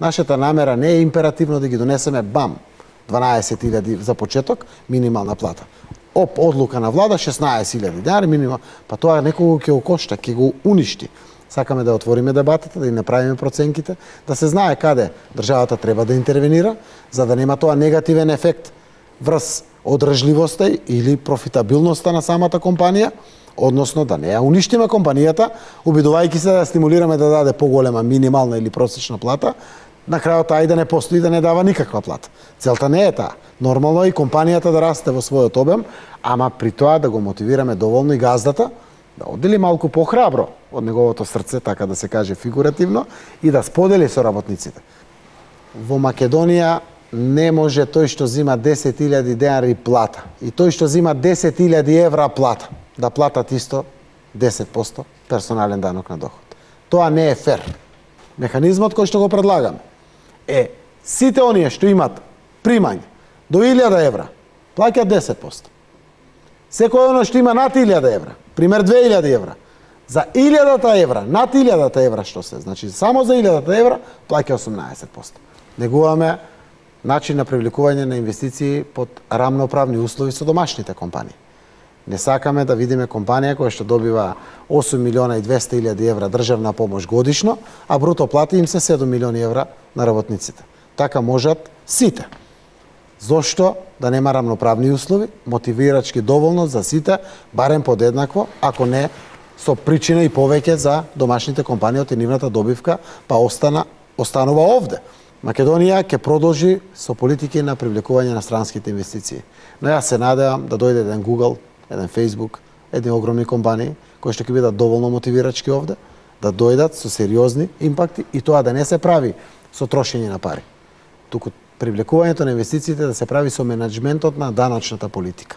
Нашата намера не е императивно да ги донесеме бам 12.000 за почеток минимална плата. Одлука на влада 16.000 денари минимум, па тоа некого ќе го кошта, ќе го уништи. Сакаме да отвориме дебатата, да и направиме проценките, да се знае каде државата треба да интервенира, за да нема тоа негативен ефект врз одржливоста или профитабилноста на самата компанија, односно да не ја уништиме компанијата, обидувајќи се да стимулираме да даде поголема минимална или просечна плата, на крајот ај да не постои да не дава никаква плата. Целта не е таа. Нормално е и компанијата да расте во својот обем, ама при тоа да го мотивираме доволно и газдата, да оддели малку похрабро од неговото срце, така да се каже фигуративно, и да сподели со работниците. Во Македонија не може тој што зима 10.000 денари плата и тој што зима 10.000 евра плата да платат исто 10% персонален данок на доход. Тоа не е фер. Механизмот кој што го предлагаме е сите оние што имат примање до 1000 евра плаќаат 10%. Секој оно што има над 1000 евра, пример 2000 евра, за 1000 евра, над 1000 евра што се, значи само за 1000 евра плаќа 18%. Негуваме начин на привлекување на инвестиции под рамноправни услови со домашните компании. Не сакаме да видиме компанија која што добива 8.200.000 евра државна помош годишно, а бруто плати им се 7 милиони евра на работниците. Така можат сите. Зошто да нема рамноправни услови, мотивирачки доволно за сите, барем подеднакво, ако не со причина и повеќе за домашните компании од нивната добивка, па останува овде. Македонија ќе продолжи со политики на привлекување на странските инвестиции. Но јас се надевам да дојде еден Google, еден Facebook, едни огромни компании кои што ќе бидат доволно мотивирачки овде, да дојдат со сериозни импакти и тоа да не се прави со трошење на пари. Туку привлекувањето на инвестициите да се прави со менаџментот на даночната политика.